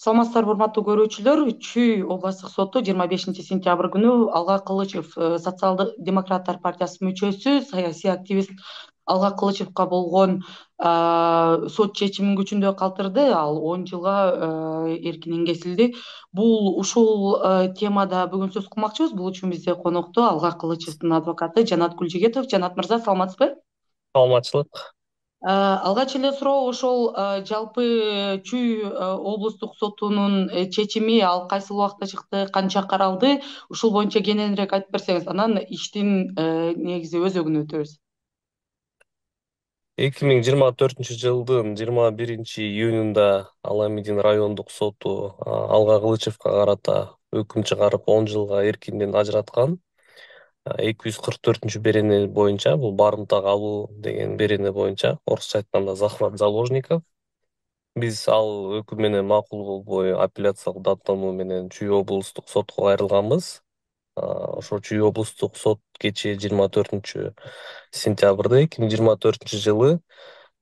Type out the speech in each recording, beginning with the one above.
Саламатсыздарбы, урматтуу көрүүчүлөр. Чүй областтык соту 25 сентябрь күнү Алга Кылычев, Социалдык демократтар партиясынын мүчөсү, саясий активист Алга Кылычевго болгон сот чечимин күчүндө калтырды. Ал 10 жылга эркинен кесилди. Ушул темада бүгүн сөз кылмакчыбыз. Бул үчүн бизде конокто Алга Кылычевдин адвокаты Жанат Гүлжигетов. Жанат мырза, саламатсызбы? Саламатчылык. Алгач эле суроо ошол жалпы Чүй облустук сотунун чечими ал кайсыл убакта чыкты, канча каралды? Ушул боюнча кененирээк айтып берсеңиз, анан иштин негизи өзөгүнө өтөбүз. 2024 жылдын 21 июнунда Аламидин райондук соту Алга Кылычевго карата өкүм чыгарып 10 жылга эркинден ажыраткан. 244 берене боюнча, бул барымтага алуу деген берене боюнча, орусча айтканда захват заложников. Биз ал өкүм менен макул болбой апелляциялык даттануу менен Чүй облустук сотко кайрылганбыз. Ошо Чүй облустук сот кечээ 24 сентябрда 2024 жылы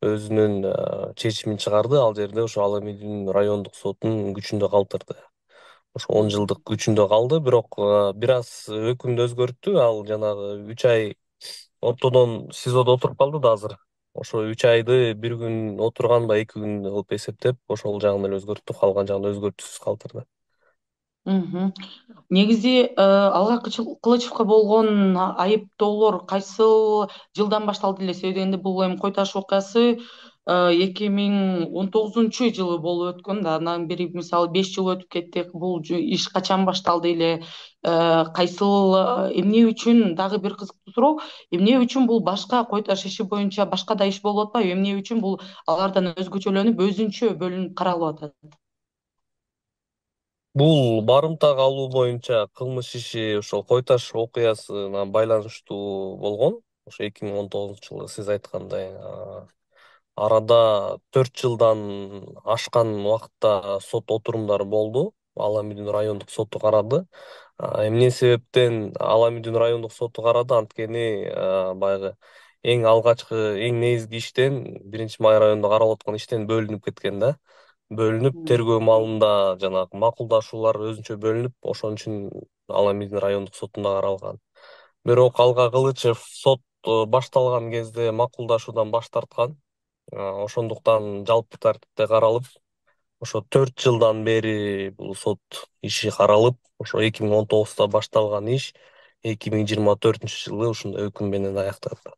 өзүнүн чечимин чыгарды. Ал жерде ошо Аламидин райондук сотунун күчүндө калтырды. Ошо 10 жылдык күчүндө калды, бирок бир аз өкүмдү өзгөрттү. Ал жанагы 3 ай ортодон СИЗОдо отуруп калды да азыр. Ошо 3 айды бир күн отурганба 2 күн кылып эсептеп, ошол жагын эле өзгөрттү, калган жагын өзгөртүүсүз калтырды. Мгм. Негизи Алга Кылычевго болгон айыптоолор кайсыл жылдан башталды эле? Себеби дегенде бул эми кой таш окуясы 2019 жылы болуп өткөн да. Андан бери мисалы 5 жыл өтүп кетти. Бул иш качан башталды эле? Кайсыл эмне үчүн, дагы бир кызыктуу суроо, эмне үчүн бул башка кой таш иши боюнча башка да иш болуп атпайбы? Эмне үчүн бул алардан өзгөчөлөнүп, өзүнчө бөлүнүп каралып атат? Бул барымтага алуу боюнча кылмыш иши ошол кой таш окуясына байланыштуу болгон. Ошо 2019 жылы сиз айткандай арада 4 жылдан ашкан убакытта сот отурумдары болду. Аламидин райондук соту карады. Эмне себептен Аламидин райондук соту карады? Анткени баягы эң алгачкы, эң негизги иштен, 1 Май районунда каралып аткан иштен бөлүнүп кеткен да. Бөлүнүп, тергөө маалында жанагы макулдашуулар өзүнчө бөлүнүп, ошон үчүн Аламидин райондук сотунда каралган. Бирок Алга Кылычев сот башталган кезде макулдашуудан баш тарткан. Ошондуктан жалпы тартипте каралып, ошо 4 жылдан бери бул сот иши каралып, ошо 2019 башталган иш 2024 жылы ушундай өкүм менен аякталды.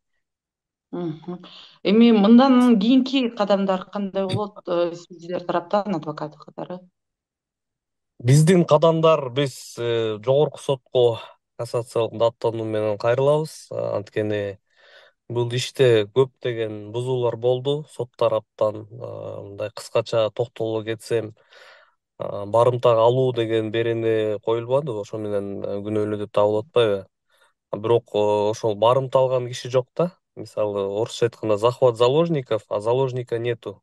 Мгм. Эми мындан кийинки кадамдар кандай болот сиздер тараптан, адвокат катары? Биздин кадамдар, биз жогорку сотко кассациялык даттануу менен кайрылабыз. Анткени бул иште көптөгөн бузуулар болду сот тараптан. Мындай кыскача токтоло кетсем, барымтага алуу деген берене коюлбады, ошо менен күнөөлүү деп табылып атпайбы? Бирок ошол барымта алган киши жок да. Мисалы, орусча айтканда захват заложников, а заложника нету.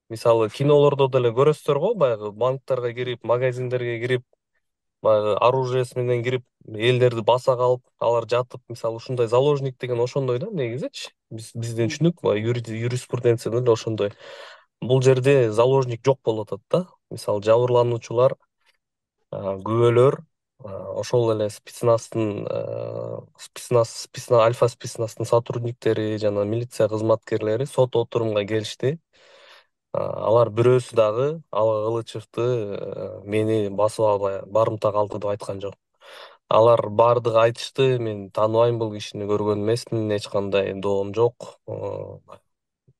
Мисалы, кинолордо деле көрөсүздөр го, баягы банктарга кирип, магазиндерге кирип, баягы оружиеси менен кирип, элдерди баса калып, алар жатып, мисалы, ушундай заложник деген ошондой да негизичи. Биздин түшүнүк баягы юриспруденцияда эле ошондой. Бул жерде заложник жок болуп атат да. Мисалы, жабырлануучулар, күбөлөр, ошол эле спецназтын, альфа спецназтын сотрудниктери жана милиция кызматкерлери сот отурумга келишти. Алар бирөөсү дагы Алга Кылычевди мени басып албай барымта калды деп айткан жок. Алар баардыгы айтышты: мен тааныбайм бул кишини, көргөн эмесмин, эч кандай доом жок,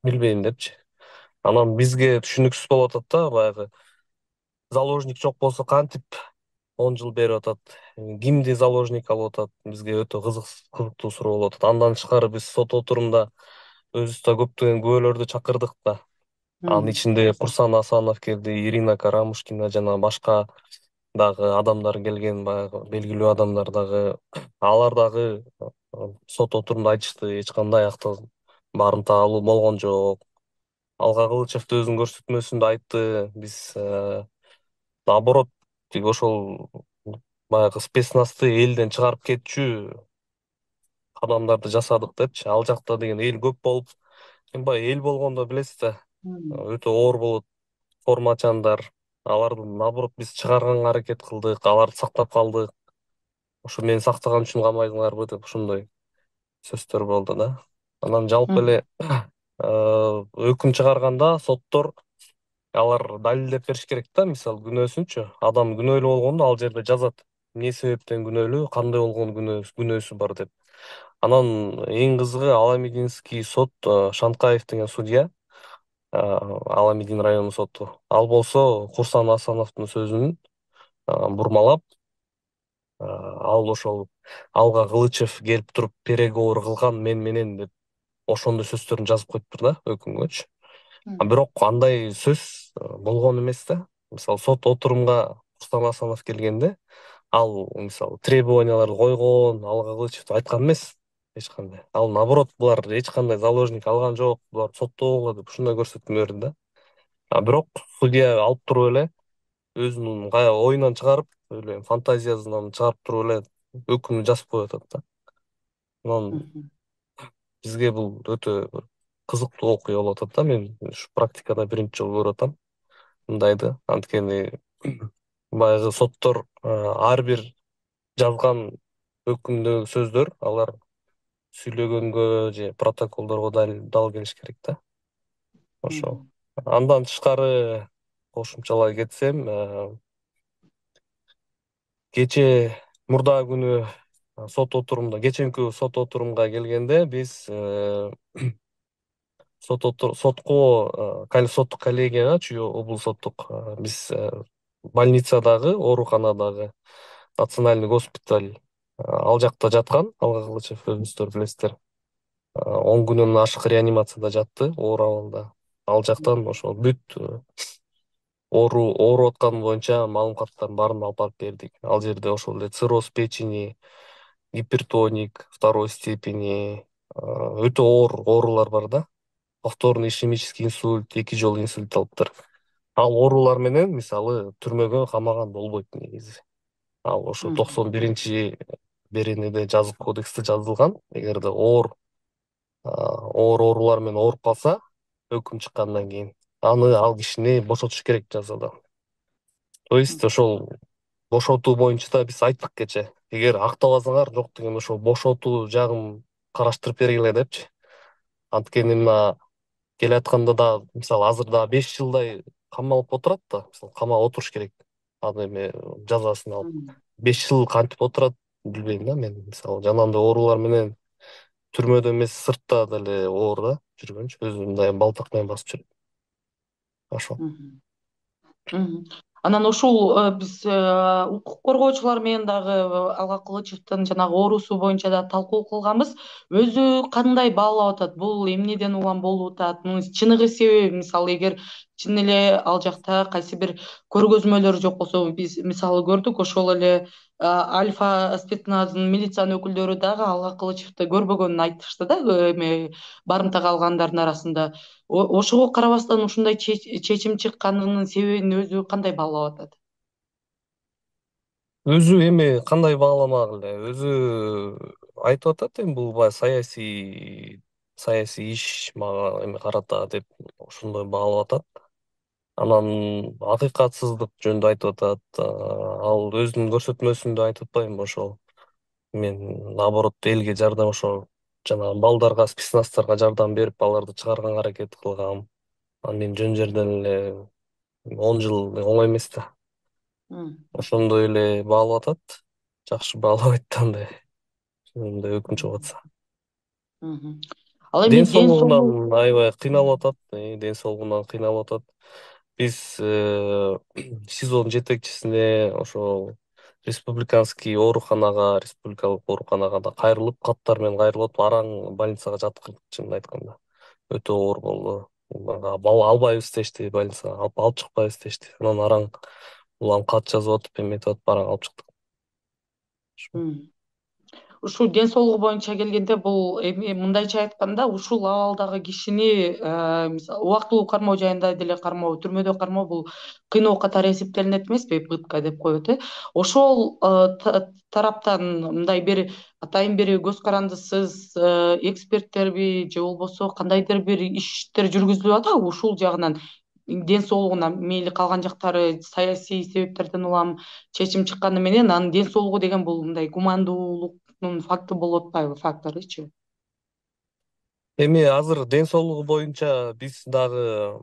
билбейм депчи. Анан бизге түшүнүксүз болуп атат да, баягы заложник жок болсо кантип 10 жыл берип атат, кимди заложник алып атат, бизге өтө кызыктуу суроо болуп атат. Андан тышкары биз сот отурумда өзүбүз да көптөгөн күбөлөрдү чакырдык да. Анын Мгм. ичинде Курсан Асанов келди, Ирина Карамушкина жана башка дагы адамдар келген, баягы белгилүү адамдар дагы. Алар дагы сот отурумда айтышты: эч кандай акты барымта алуу болгон жок. Алга Кылычев да өзүнүн көрсөтмөсүндө айтты: биз наоборот, тиги ошол баягы спецназды элден чыгарып кетчү кадамдарды жасадык депчи. Ал жакта деген эл көп болуп, баягы эл болгондо билесиз да, Мгм. өтө оор болот, формачандар. Аларды наоборот биз чыгарганга аракет кылдык, аларды сактап калдык. Ошо мени сактаган үчүн камайдыңарбы деп ошондой сөздөр болду да. Анан жалпы эле өкүм чыгарганда соттор алар далилдеп бериш керек да, мисалы күнөөсүнчү. Адам күнөөлүү болгондо ал жерде жазат. Эмне себептен күнөөлүү, кандай болгон күнөөсү бар деп. Анан эң кызыгы Аламединский сот, Шанкаев деген судья, Аламедин району соту. Ал болсо Курсан Асановдун сөзүн бурмалап, ал ошол алга Кылычев келип туруп переговор кылган мен менен деп ошондой сөздөрүн жазып коюптур да өкүмгөчү. Бирок андай сөз болгон эмес да. Мисалы сот отурумга Курсан Асанов келгенде ал мисалы требованияларды койгон, алга Кылычев айткан эмес эч кандай. Ал наоборот, булар эч кандай заложник алган жок, булар соттогула деп ушундай көрсөтмө берди да. Бирок судья алып туруп эле өзүнүн оюнан чыгарып, эле фантазиясынан чыгарып туруп эле өкүмдү жазып коюп атат да. Анан бизге бул өтө кызыктуу окуя болуп атат да. Мен ушу практикада биринчи жолу көрүп атам мындайды. Анткени баягы соттор ар бир жазган өкүмдөгү сөздөр алар сүйлөгөнгө же протоколдорго дал келиш керек да. Ошол. Андан тышкары кошумчалай кетсем, кечээ мурдагы күнү сот отурумда, кечээинки сот отурумга келгенде биз сотко соттук коллегияга, Чүй облус соттук, биз больницадагы, ооруканадагы национальный госпиталь, ал жакта жаткан Алга Кылычев, өзүңүздөр билесиздер. 10 күнүнөн ашык реанимацияда жатты, оор абалда. Ал жактан ошол бүт ооруп атканы боюнча маалыматтардын баарын алып барып бердик. Ал жерде ошол эле цирроз печени, гипертоник второй степени, өтө оор оорулар бар да. Повторный ишемический инсульт, 2 жолу инсульт алыптыр. Ал оорулар менен мисалы түрмөгө камаган болбойт негизи. Ал ошо 91 беренеде жазык кодексте жазылган. Эгерде оор оорулар менен ооруп калса, өкүм чыккандан кийин аны ал кишини бошотуш керек жазадан. То есть ошол бошотуу боюнча да биз айттык кечээ. Эгер актабасаңар, жок дегенде ошол бошотуу жагын караштырып бергиле депчи. Анткени мына келатканда да, мисалы азыр да 5 жылдай камалып отурат да, мисалы камап отуруш керек. Ал эме жазасын алып. 5 жыл кантип отурат билбейм да мен. Мисалы жанагындай оорулар менен түрмөдө эмес, сыртта деле оор да жүргөнчү, өзү мындай балдак менен басып жүрөт. Ошол. Анан ушул биз укук коргоочулар менен дагы Алга Кылычевдин жанагы оорусу боюнча да талкуу кылганбыз. Өзү кандай баалап атат? Бул эмнеден улам болуп атат? Мунун чыныгы себеби, мисалы, эгер чын эле ал жакта кайсы бир көргөзмөлөр жок болсо, биз мисалы көрдүк, ошол эле Альфа спецназдын милициянын өкүлдөрү дагы Алга Кылычевди көрбөгөнүн айтышты да, эме барымтага алгандардын арасында. Ошого карабастан ушундай чечим чыкканынын себебин өзү кандай баалап атат? Өзү эми кандай бааламак эле, өзү айтып атат, эми бул баягы саясий иш мага эме карата деп ошондой баалап атат. Анан акыйкатсыздык жөнүндө айтып атат. Ал өзүнүн көрсөтмөсүндө айтып атпаймынбы, ошол мен наоборот элге жардам, ошол жанагы балдарга, спецназдарга жардам берип, аларды чыгарганга аракет кылгам. Анан мен жөн жерден эле 10 жыл оңой эмес да. Ошондой эле баалап атат. Жакшы баалабайт да андай. Ошондой өкүм чыгып атса. Ал эми Ден ден соолугу. соолугунан аябай кыйналып атат. Ден соолугунан кыйналып атат. Биз СИЗОдун жетекчисине ошол республикалык ооруканага да кайрылып, каттар менен кайрылып, араң больницага жаткырдык, чынын айтканда. Өтө оор болду. Албайбыз дешти больницага, алып чыкпайбыз дешти. Анан араң улам кат жазып атып, эметип атып, араң алып чыктык. Ушул ден соолугу боюнча келгенде, бул эми мындайча айтканда, ушул абалдагы кишини мисалы убактылуу кармоо жайында деле кармоо, түрмөдө кармоо, бул кыйноо катары эсептелинет эмеспи, пытка деп коет, ошол тараптан мындай бир атайын бир көз карандысыз эксперттерби же болбосо кандайдыр бир иштер жүргүзүлүп атабы ушул жагынан? ден соолугуна мейли калган жактары саясий себептерден улам чечим чыкканы менен анын ден соолугу деген бул мындай гумандуулуктун факты болуп атпайбы, факторучу. Эми азыр ден соолугу боюнча биз дагы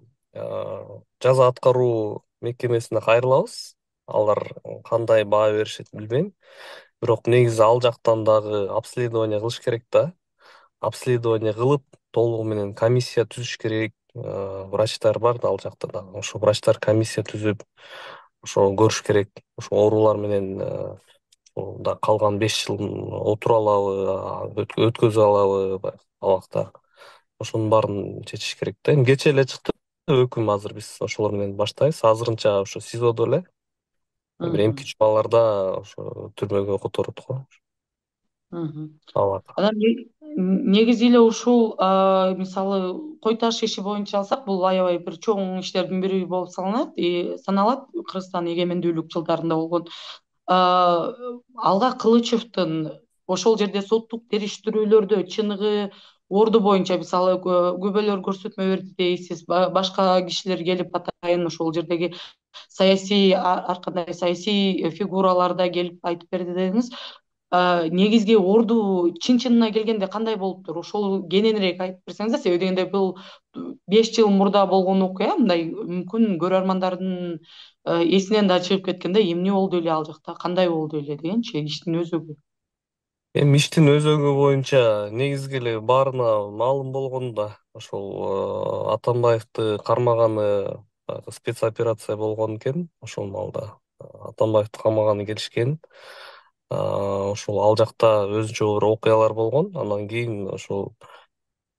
жаза аткаруу мекемесине кайрылабыз. Алар кандай баа беришет билбейм. Бирок негизи ал жактан дагы обследование кылыш керек да. Обследование кылып, толугу менен комиссия түзүш керек. Врачтар бар да ал жакта дагы. Ошо врачтар комиссия түзүп, ошо көрүш керек. Ошо оорулар менен да калган 5 жыл отура алабы, өткөзө алабы абакта. Ошонун баарын чечиш керек да. Эми кечээ эле чыкты өкүм, азыр биз ошолор менен баштайбыз. Азырынча ошо СИЗОдо эле. Бир Мгм. эмки учураларда ошо түрмөгө которот го. Мгм. Алар. Анан негизи эле ушул мисалы кой таш иши боюнча алсак, бул аябай бир чоң иштердин бири болуп саналат Кыргызстан эгемендүүлүк жылдарында болгон. Алга Кылычевдин ошол жерде соттук териштирүүлөрдө чыныгы орду боюнча мисалы күбөлөр көрсөтмө берди дейсиз, башка кишилер келип атайын ошол жердеги саясий ар кандай саясий фигуралар да келип айтып берди дедиңиз. Негизги орду чын-чынына келгенде кандай болуптур? Ошол кененирээк айтып берсеңиз да, себеби дегенде бул 5 жыл мурда болгон окуя, мындай мүмкүн көрөрмандардын эсинен да чыгып кеткен да, эмне болду эле ал жакта, кандай болду эле дегенчи, иштин өзөгү. Эми иштин өзөгү боюнча негизги эле баарына маалым болгон да. Ошол Атамбаевди кармаганы спецоперация болгон экен. Ошол маалда Атамбаевди камаганы келишкен. Ошол ал жакта өзүнчө бир окуялар болгон. Андан кийин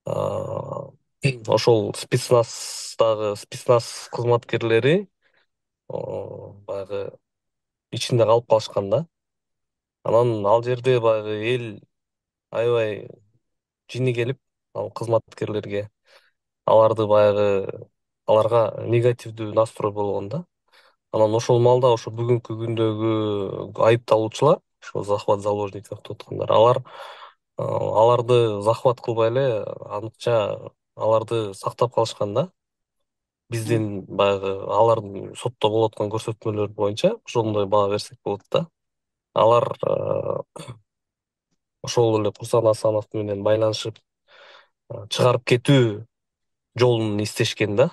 а, ошол спецназ кызматкерлери баягы ичинде калып калышкан да. Анан ал жерде баягы эл аябай жини келип, ал кызматкерлерге аларды баягы аларга негативдүү настрой болгон да. Анан ошол маалда ошо бүгүнкү күндөгү айыпталуучулар, ошо захват заложников деп аткандар, аларды захват кылбай эле аныкча аларды сактап калышкан да. Биздин баягы алардын сотто болуп аткан көрсөтмөлөр боюнча ошондой баа берсек болот да. Алар ошол эле Курсан Асанов менен байланышып чыгарып кетүү жолун издешкен да.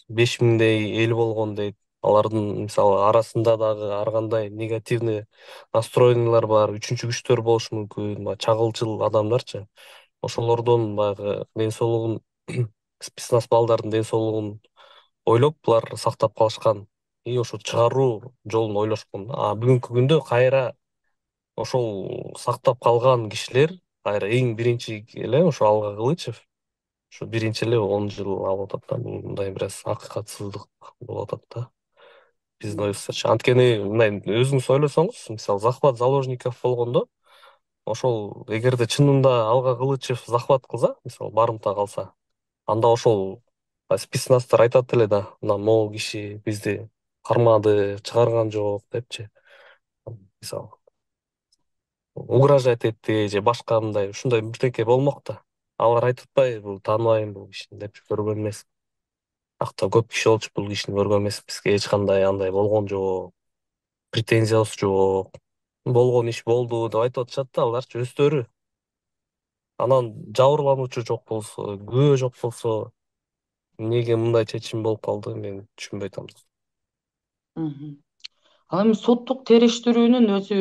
5 миңдей эл болгон дейт. Алардын мисалы арасында дагы ар кандай негативный настроениялар бар, үчүнчү күчтөр болушу мүмкүн, чагылчыл адамдарчы. Ошолордон баягы ден соолугун спецназ балдардын ден соолугун ойлоп булар сактап калышкан и ошо чыгаруу жолун ойлошкон да. Бүгүнкү күндө кайра ошол сактап калган кишилер кайра эң биринчи эле ошо Алга Кылычев ушу биринчи эле 10 жыл алып атат да. Бул мындай бир аз акыйкатсыздык болуп атат да биздин оюбузча. Анткени мындай өзүңүз ойлосоңуз, мисалы захват заложников болгондо, ошол эгерде чынында Алга Кылычев захват кылса, мисалы барымта калса, анда ошол спецназдар айтат эле да, мына могу киши бизди кармады, чыгарган жок депчи. Мисалы угрожать этти же башка мындай ушундай бирдеке болмок да. Алар айтып атпайбы, бул тааныбайм бул кишини депчи, көргөн эмес. Акта көп киши болчу, бул кишини көргөн эмес, бизге эч кандай андай болгон жок, претензиябыз жок, болгон иш болду деп айтып атышат да аларчы өздөрү. Анан жабырлануучу жок болсо, күбө жок болсо, эмнеге мындай чечим болуп калды, мен түшүнбөй атам. Мгм. Ал эми соттук териштирүүнүн өзү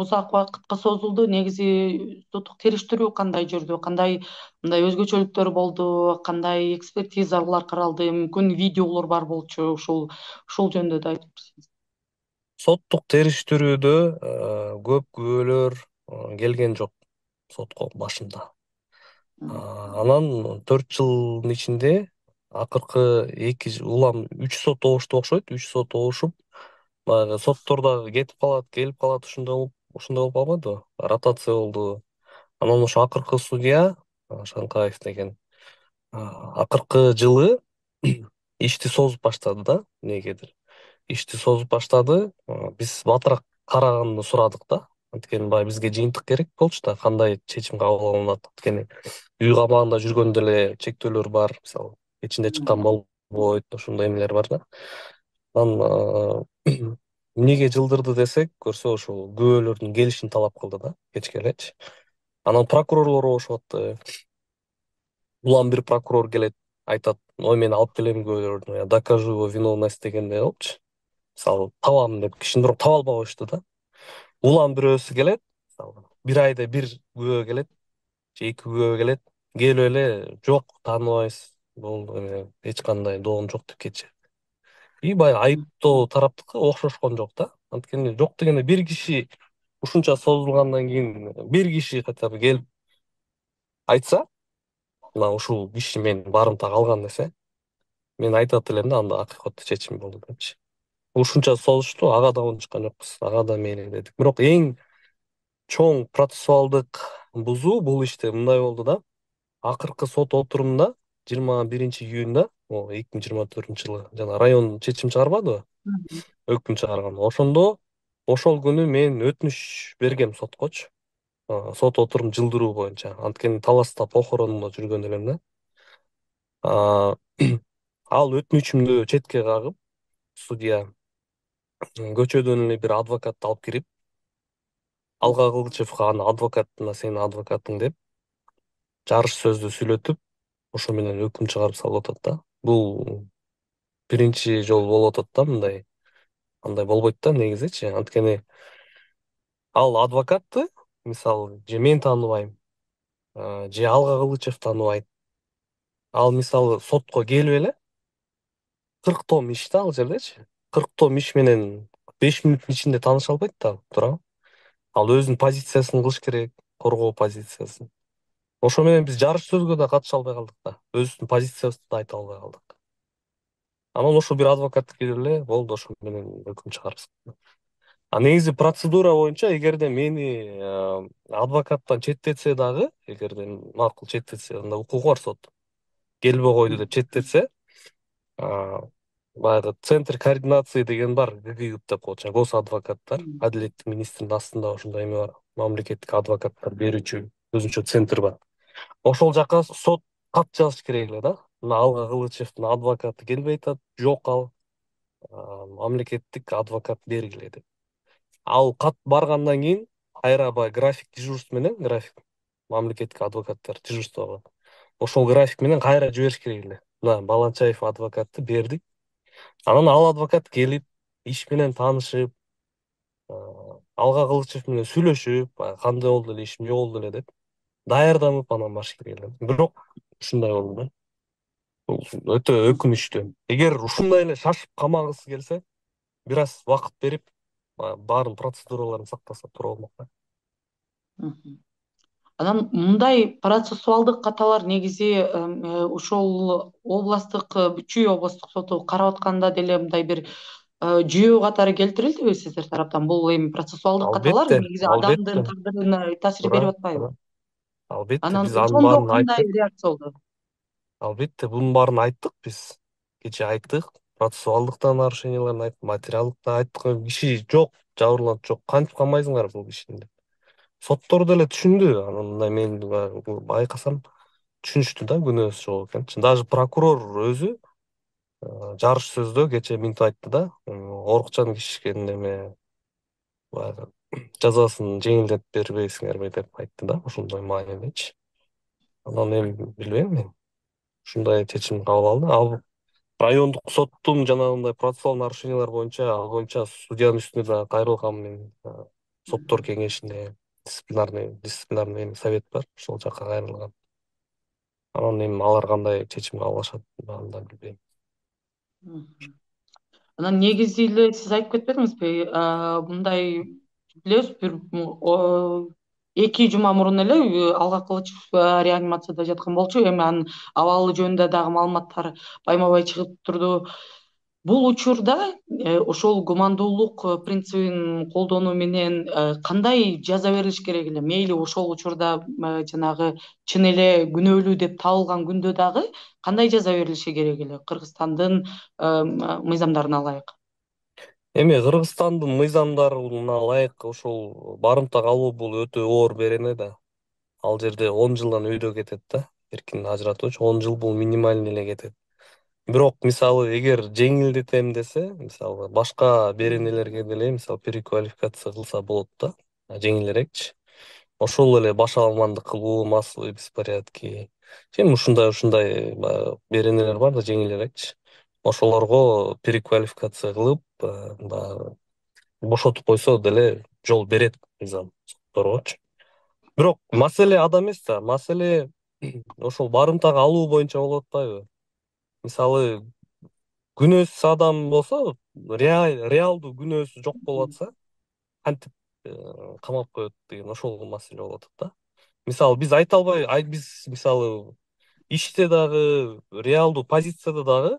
узак убакытка созулду. Негизи соттук териштирүү кандай жүрдү? Кандай мындай өзгөчөлүктөр болду? Кандай экспертизалар каралды? Мүмкүн видеолор бар болчу. Ушул жөнүндө да айтып берсеңиз. Соттук териштирүүдө көп күбөлөр келген жок сотко башында. Мгм. Анан 4 жылдын ичинде акыркы улам 3 сот обушту окшойт. 3 сот обушуп, баягы соттор дагы кетип калат, келип калат, ушундай болуп калбадыбы? Ротация болду. Анан ошо акыркы судья Шанкаев деген акыркы жылы ишти созуп баштады да, эмнегедир. Ишти созуп баштады. Биз батыраак караганды сурадык да. Анткени баягы бизге жыйынтык керек болчу да, кандай чечим кабыл алынат. Анткени үй камагында жүргөндө эле чектөөлөр бар, мисалы кечинде чыккан ушундай эмелер бар да. Анан эмнеге жылдырды десек, көрсө ушул күбөлөрдүн келишин талап кылды да кечке элечи. Анан прокурорлор болушуп атты. Улам бир прокурор келет, айтат: ой, мен алып келем күбөлөрдү, я докажу его виновность дегендей кылыпчы. Мисалы, табам деп кишини бирок таба албай коюшту да. Улам бирөөсү келет, мисалы, бир айда бир күбө келет же эки күбө келет. Келип эле жок, тааныбайбыз, бул эч кандай доогум жок деп кетишет. И баягы айыптоо тараптыкы окшошкон жок да. Анткени жок дегенде бир киши ушунча созулгандан кийин бир киши хотя бы келип айтса, мына ушул киши мен барымтага алган десе, мен айтат элем да, анда акыйкаттуу чечим болду депчи. Ушунча созушту, ага да унчуккан жокпуз, ага да мейли дедик. Бирок эң чоң процессуалдык бузуу бул иште мындай болду да. Акыркы сот отурумунда 21-июнда, 2024-жылы жана район чечим чыгарбадыбы? Өкүм чыгарган. Ошондо ошол күнү мен өтүнүч бергем соткочу. Сот отурум жылдыруу боюнча. Анткени таласта похоронунда жүргөн элем да. А, Ал өтүнүчүмдү четке кагып, судья көчөдөн эле бир адвокатты алып кирип, Алга Кылычевго аны адвокатына сенин адвокатың деп жарыш сөздү сүйлөтүп, ошо менен өкүм чыгарып салып атат да. Бул биринчи жолу болуп атат да мындай. Андай болбойт да негизичи. Анткени ал адвокатты, мисалы, же мен тааныбайм, же Алга Кылычев тааныбайт. Ал мисалы сотко келип эле 40 том иш да ал жердечи. 40 том иш менен 5 мүнөттүн ичинде тааныша албайт да, туурабы? Ал өзүнүн позициясын кылыш керек, коргоо позициясын. Ошо менен биз жарыш сөзгө да катыша албай калдык да. Өзүбүздүн позициябызды да айта албай калдык. Анан ошо бир адвокат келип эле болду, ошо менен өкүм чыгарып. Негизи процедура боюнча, эгерде мени адвокаттан четтетсе дагы, эгерде макул четтетсе, анда укугу бар соттун. Келбей койду деп четтетсе, баягы центр координации деген бар, ГКЮП деп коет, гос адвокаттар, адилеттик министринин астында ошондой эме бар, мамлекеттик адвокаттар берүүчү өзүнчө центр бар. Ошол жака сот кат жазыш керек эле да. Мына Алга Кылычевдин адвокаты келбей атат, жок ал мамлекеттик адвокат бергиле деп. Ал кат баргандан кийин кайра баягы график дежурство менен, график мамлекеттик адвокаттар дежурство кылат. Ошол график менен кайра жибериш керек эле. Мына Баланчаев адвокатты бердик. Анан ал адвокат келип, иш менен таанышып, Алга Кылычев менен сүйлөшүп, кандай болду эле иш, эмне болду эле деп даярданып анан барыш керек эле. Бирок ушундай болду да. Бул өтө өкүнүчтүү. Эгер ушундай эле шашып камагысы келсе, бир аз убакыт берип, баарын процедураларын сактаса туура болмок да. Анан мындай процессуалдык каталар негизи ошол областтык Чүй областтык соту карап атканда деле мындай бир жүйө катары келтирилдиби сиздер тараптан? Бул эми процессуалдык каталар Албетте, негизи албетте, адамдын тагдырына таасир туура, берип атпайбы? туура. Албетте, Анан биз анын ошондо баарын кандай айттык. реакция болду? Албетте, бунун баарын айттык биз. Кечээ айттык. Процессуалдык да нарушенияларын айттык, материалдык да айттык. Киши жок, жабырлануучу жок. Кантип камайсыңар бул кишини деп. Соттор деле түшүндү. Анан мындай мен байкасам түшүнүштү да күнөөсү жок экенин. Даже прокурор өзү жарыш сөздө кечээ мынтип айтты да. Орукчан кишишкен эме баягы жазасын жеңилдетип бербейсиңерби деп айтты да, ошондой маанидечи. Анан эми билбейм мен. Ушундай чечим кабыл алды. Ал райондук соттун жанагындай процессуал нарушениялар боюнча, ал боюнча судьянын үстүнө да кайрылгам мен. Соттор кеңешине дисциплинарный совет бар, ошол жака кайрылгам. Анан эми алар кандай чечим кабыл алышат, аны да билбейм. Анан негизи эле сиз айтып кетпедиңизби? Мындай билебиз, бир 2 жума мурун эле Алга Кылычев реанимацияда жаткан болчу. Эми анын абалы жөнүндө дагы маалыматтар байма-бай чыгып турду. Бул учурда ошол гумандуулук принцибин колдонуу менен кандай жаза берилиш керек эле? Мейли ошол учурда жанагы чын эле күнөөлүү деп табылган күндө дагы кандай жаза берилиши керек эле? Кыргызстандын мыйзамдарына ылайык. Эми Кыргызстандын мыйзамдарына ылайык ошол барымта калуу бул өтө оор берене да. Ал жерде 10 жылдан өйдө кетет да. Эркин ажыратууч 10 жыл бул минимальный эле кетет. Бирок мисалы эгер жеңилдетем десе, мисалы башка беренелерге деле мисалы переквалификация кылса болот да, жеңилирээкчи. Ошол эле баш алмандык кылуу, массовый беспорядки. Ушундай баягы беренелер бар да жеңилирээкчи. Ошолорго переквалификация кылып, баягы бошотуп койсо деле жол берет мыйзам сотторгочу. Бирок маселе ада эмес да, маселе ошол барымтага алуу боюнча болуп атпайбы? Мисалы күнөөсүз адам болсо, реалдуу күнөөсү жок болуп атса, кантип камап коет деген ошол маселе болуп атат да. Мисалы биз айта албай, биз мисалы иште дагы, реалдуу позицияда дагы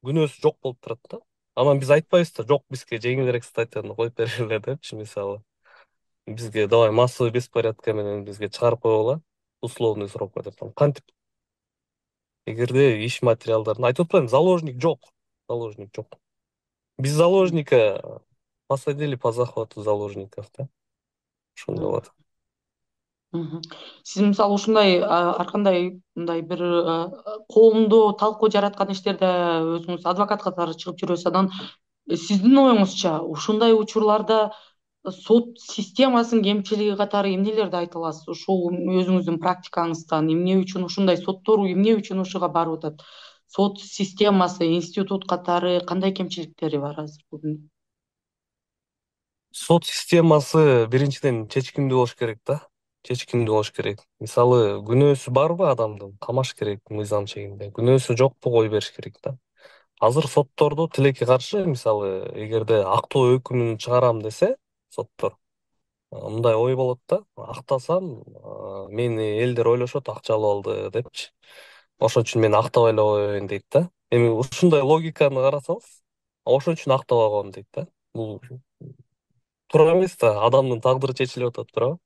күнөөсү жок болуп турат да. Анан биз айтпайбыз да, жок бизге жеңилирээк статьяны коюп бергиле депчи, мисалы. Бизге давай массовый беспорядка менен бизге чыгарып койгула, условный срокко деп. Кантип? Эгерде иш материалдарын айтып атпаймынбы, заложник жок. Заложник жок. Биз заложника посадили по захвату заложников, да? Ошондой болот. Мгм. Сиз мисалы ушундай ар кандай мындай бир коомдоо талкуу жараткан иштерде өзүңүз адвокат катары чыгып жүрөсүз. Анан сиздин оюңузча ушундай учурларда сот системасынын кемчилиги катары эмнелерди айта аласыз? Ушул өзүңүздүн практикаңыздан эмне үчүн ушундай соттор эмне үчүн ушуга барып атат? Сот системасы, институт катары кандай кемчиликтери бар азыр бүгүн? Сот системасы биринчиден чечкиндүү болуш керек да. Чечкиндүү болуш керек. Мисалы, күнөөсү барбы адамдын, камаш керек мыйзам чегинде. Күнөөсү жокпу, кое бериш керек да. Азыр соттордо тилекке каршы, мисалы, эгерде актоо өкүмүн чыгарам десе, соттор мындай ой болот да, актасам, мени элдер ойлошот акча алып алды депчи. Ошон үчүн мен актабай эле коеюн дейт да. Эми ушундай логиканы карасаңыз, ошон үчүн актабай коем дейт да. Бул туура эмес да, адамдын тагдыры чечилип атат, туурабы?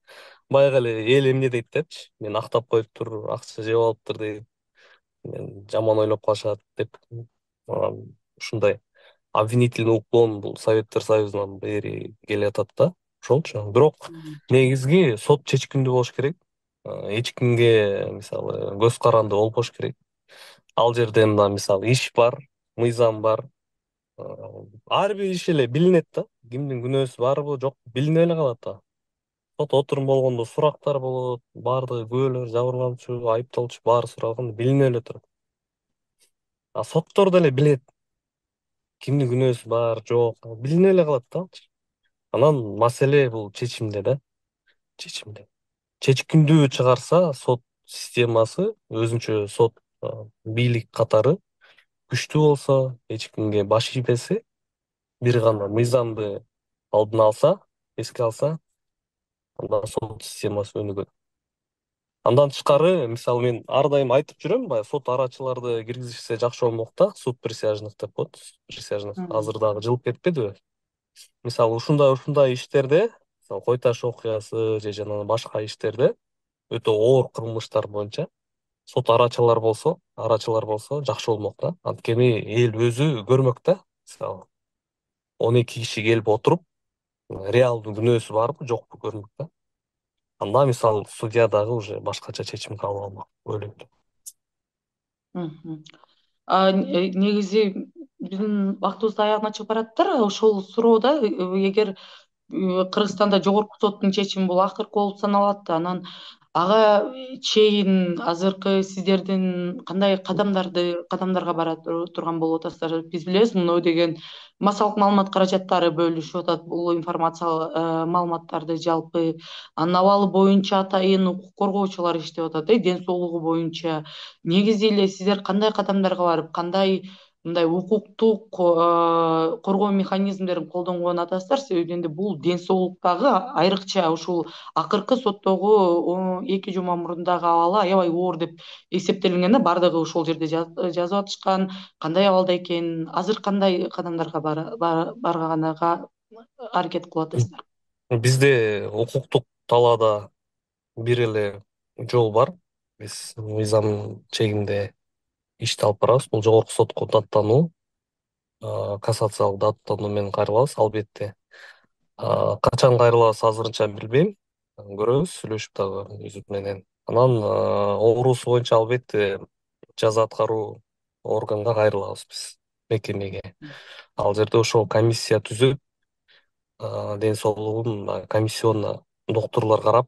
Баягы эле эл эмне дейт депчи, мен актап коюптур, акча жеп алыптыр дейт, жаман ойлоп калышат деп. Ушундай обвинительный уклон бул Советтер Союзунан бери келатат да, ошолчу. Бирок негизги сот чечкиндүү болуш керек. Эч кимге мисалы көз каранды болбош керек. Ал жерде мына мисалы иш бар, мыйзам бар. Ар бир иш эле билинет да. Кимдин күнөөсү барбы, жокпу билине эле калат да. Сот отурум болгондо сурактар болот, баардыгы күбөлөр, жабырлануучу, айыпталуучу баары суралганда билине эле турат. А соттор деле билет. Кимдин күнөөсү бар, жок, билине эле калат да. Анан маселе бул чечимде да, чечимде. Чечкиндүү чыгарса сот системасы, өзүнчө сот бийлик катары күчтүү болсо, эч кимге баш ийбесе, бир гана мыйзамды алдын алса, эске алса, анда сот системасы өнүгөт. Андан тышкары, мисалы мен ар дайым айтып жүрөм, баягы сот арачыларды киргизишсе жакшы болмок да, суд присяжных деп коет, присяжных. Азыр дагы жылып кетпедиби? Мисалы ушундай иштерде, мисалы Кой Таш окуясы же жана башка иштерде өтө оор кылмыштар боюнча сот арачылар болсо жакшы болмок да. Анткени эл өзү көрмөк да. Мисалы 12 киши келип отуруп, реалдуу күнөөсү барбы, жокпу көрмөк да. Анда мисалы судья дагы уже башкача чечим кабыл алмак ойлойм. Мгм. Негизи биздин убактыбыз да аягына чыгып баратыр. Ошол суроодо эгер Кыргызстанда жогорку соттун чечими бул акыркы болуп саналат. Анан ага чейин азыркы сиздердин кандай кадамдарга бара турган болуп атасыздар? Биз билебиз, муну деген массалык маалымат каражаттары бөлүшүп атат бул информациялык маалыматтарды жалпы. Анын абалы боюнча атайын укук коргоочулар иштеп атат, ден соолугу боюнча. Негизи эле сиздер кандай кадамдарга барып, кандай мындай укуктук коргоо механизмдерин колдонгон атасыздар? Себеби энди бул ден соолуктагы айрыкча ушул акыркы соттогу 2 жума мурундагы абалы аябай оор деп эсептелинген да, баардыгы ошол жерде жазып атышкан. Кандай абалда экенин, азыр кандай кадамдарга барганага аракет кылып атасыздар? Бизде укуктук талаада бир эле жол бар. Биз мыйзам чегинде ишти алып барабыз. Бул жогорку сотко даттануу, кассациялык даттануу менен кайрылабыз, албетте. Качан кайрылабыз азырынча билбейм. Көрөбүз, сүйлөшүп дагы үзүт менен. Анан оорусу боюнча албетте жаза аткаруу органга кайрылабыз биз, мекемеге. Ал жерде ошол комиссия түзүп, ден соолугун комиссионно доктурлар карап,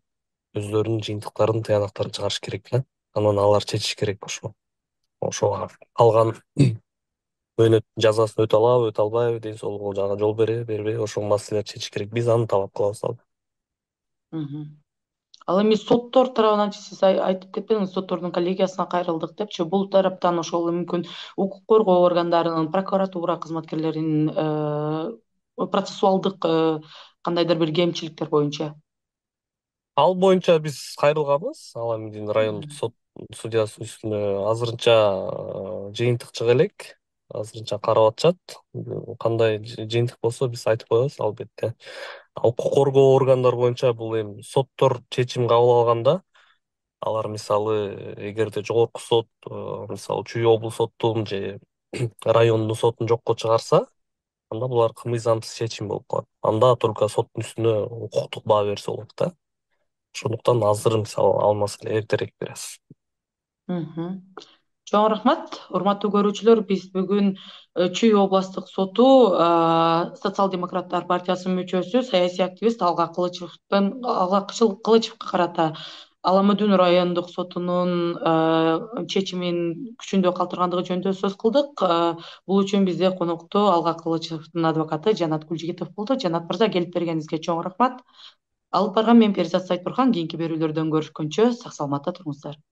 өздөрүнүн жыйынтыктарын, тыянактарын чыгарыш керек да. Анан алар чечиш керек ошого калган мөөнөт жазасын өтө алабы, өтө албайбы, ден соолугу жагы жол береби, бербейби, ошол маселелерди чечиш керек. Биз аны талап кылабыз ал. Мгм. Ал эми соттор тарабынан сиз айтып кетпедиңиз, соттордун коллегиясына кайрылдык депчи. Бул тараптан ошол мүмкүн укук коргоо органдарынын, прокуратура кызматкерлеринин процессуалдык кандайдыр бир кемчиликтер боюнча. Ал боюнча биз кайрылганбыз. Аламедин райондук Мгм. сот судьясынын үстүнө азырынча жыйынтык чыга элек. Азырынча карап атышат. Кандай жыйынтык болсо биз айтып коебуз, албетте. Укук коргоо органдар боюнча бул эми соттор чечим кабыл алганда, алар мисалы эгерде жогорку сот мисалы Чүй облус соттун же райондун сотун жокко чыгарса, анда булар мыйзамсыз чечим болуп калат. Анда только соттун үстүнө укуктук баа берсе болот да. Ошондуктан азыр мисалы ал маселе эртерээк бир аз. Мгм. Чоң рахмат, урматтуу көрүүчүлөр. Биз бүгүн Чүй областтык соту Социал-демократтар партиясынын мүчөсү, саясий активист Алга Кылычевго карата Аламүдүн райондук сотунун чечимин күчүндө калтыргандыгы жөнүндө сөз кылдык. Бул үчүн бизде конокто Алга Кылычевдин адвокаты Жанат Кулжигитов болду. Жанат мырза, келип бергениңизге чоң рахмат. Алып барган мен Перизат Сайтбурхан. Кийинки берүүлөрдөн көрүшкөнчө сак саламатта туруңуздар.